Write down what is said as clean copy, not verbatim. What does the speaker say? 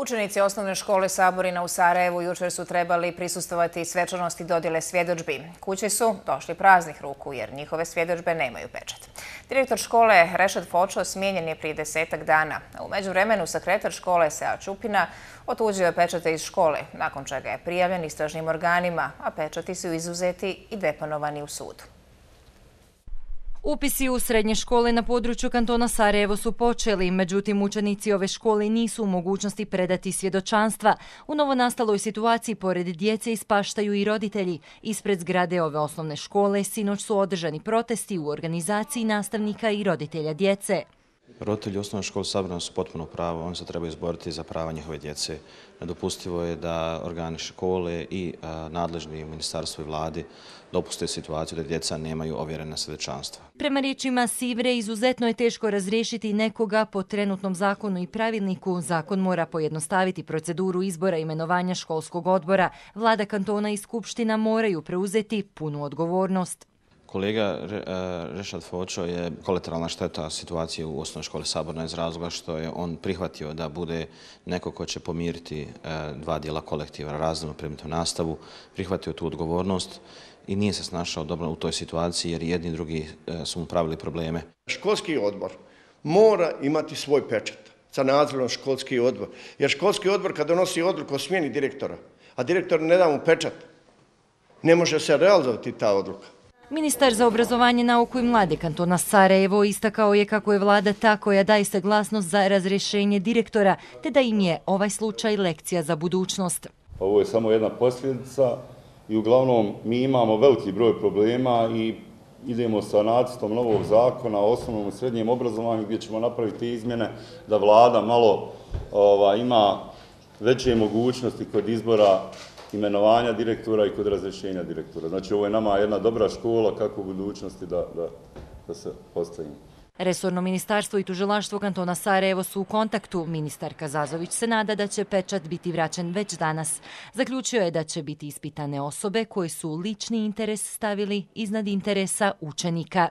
Učenici osnovne škole Saborina u Sarajevu jučer su trebali prisustvovati svečanosti dodjele svjedodžbi. Kući su došli praznih ruku jer njihove svjedodžbe nemaju pečat. Direktor škole Rešad Fočo smijenjen je prije 10-ak dana. U međuvremenu sekretar škole Sead Čupina otuđio je pečate iz škole, nakon čega je prijavljen istražnim organima, a pečati su izuzeti i deponovani u sudu. Upisi u srednje škole na području kantona Sarajevo su počeli, međutim učenici ove škole nisu u mogućnosti predati svjedočanstva. U novonastaloj situaciji pored djece ispaštaju i roditelji. Ispred zgrade ove osnovne škole sinoć su održani protesti u organizaciji nastavnika i roditelja djece. Roditelji osnovne škole Saborina su potpuno pravo, oni se trebaju izboriti za prava njihove djece. Nedopustivo je da organi škole i nadležni ministarstvo i vladi dopuste situaciju da djeca nemaju ovjerena svjedočanstva. Prema riječima Sivre, izuzetno je teško razriješiti nekoga po trenutnom zakonu i pravilniku. Zakon mora pojednostaviti proceduru izbora imenovanja školskog odbora. Vlada kantona i skupština moraju preuzeti punu odgovornost. Kolega Rešad Fočo je kolateralna šteta situacije u osnovnoj školi Saborina iz razloga što je on prihvatio da bude neko ko će pomiriti dva dijela kolektiva, razrednu predmetnu nastavu, prihvatio tu odgovornost i nije se snašao dobro u toj situaciji jer jedni i drugi su mu pravili probleme. Školski odbor mora imati svoj pečat sa nadzorom školski odbor, jer školski odbor kad donosi odluku o smjeni direktora, a direktor ne da mu pečat, ne može se realizovati ta odluka. Ministar za obrazovanje, nauku i mlade kantona Sarajevo istakao je kako je vlada ta koja daje saglasnost za razrješenje direktora, te da im je ovaj slučaj lekcija za budućnost. Ovo je samo jedna posljedica i uglavnom mi imamo veliki broj problema i idemo sa nacrtom novog zakona o osnovnom i srednjem obrazovanju gdje ćemo napraviti izmjene da vlada malo ima veće mogućnosti kod izbora imenovanja direktora i kod razrješenja direktora. Znači ovo je nama jedna dobra škola kako u budućnosti da se postavimo. Resorno ministarstvo i tužilaštvo kantona Sarajevo su u kontaktu. Ministar Kazazović se nada da će pečat biti vraćen već danas. Zaključio je da će biti ispitane osobe koje su lični interes stavili iznad interesa učenika.